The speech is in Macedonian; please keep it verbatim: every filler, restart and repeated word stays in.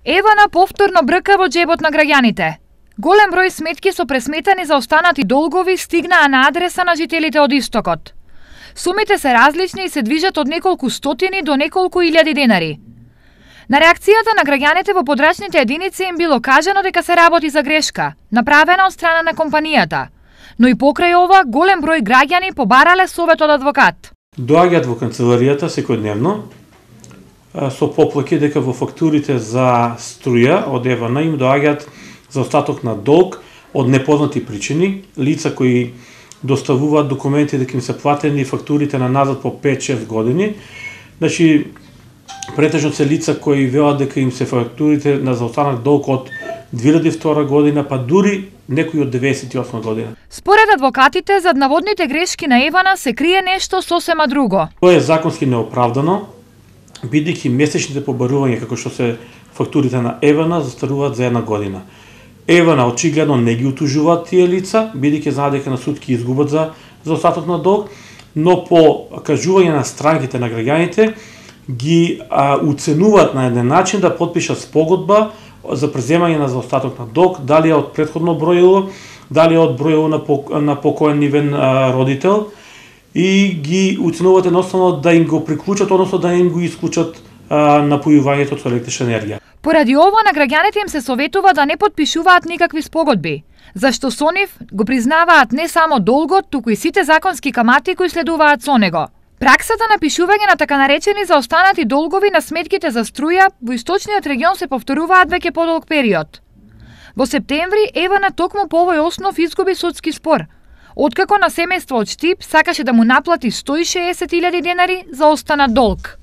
Евана повторно брка во џебот на граѓаните. Голем број сметки со пресметани за останати долгови стигнаа на адреса на жителите од Истокот. Сумите се различни и се движат од неколку стотини до неколку илјади денари. На реакцијата на граѓаните во подрачните единици им било кажано дека се работи за грешка, направена од страна на компанијата. Но и покрај ова, голем број граѓани побарале совет од адвокат. Доаѓаат во канцеларијата секојдневно со поплаки дека во фактурите за струја од Евана им доаѓаат заостаток на долг од непознати причини, лица кои доставуваат документи дека им се платени фактурите на назад по пет-шест години. Значи, претежно се лица кои велат дека им се фактурите на заостанат долг од две илјади и втора година, па дури некои од деветдесет и осма година. Според адвокатите, зад наводните грешки на Евана се крие нешто сосема друго. Тоа е законски неоправдано, бидејќи месечните побарувања како што се фактурите на Евана застаруваат за една година. Евана очигледно не ги утужуваат тие лица, бидејќи знаат дека на суд ќе изгубат за заостаток на долг, но по кажување на странките на граѓаните ги а, уценуваат на еден начин да потпишат спогодба за преземање на заостаток на долг, дали е од претходно бројило, дали е од бројило на, пок, на покоен нивен а, родител, и ги уценуваат едноставно да им го приклучат, односно да им го исклучат а, напојувањето со електрична енергија. Поради ова на граѓаните им се советува да не потпишуваат никакви спогодби, зашто со нив го признаваат не само долгот, туку и сите законски камати кои следуваат со него. Праксата на пишување на така наречени заостанати долгови на сметките за струја во источниот регион се повторуваат веќе подолг период. Во септември Евана токму по овој основ изгуби судски спор, откако на семејство од Штип сакаше да му наплати сто и шеесет илјади денари за останат долг.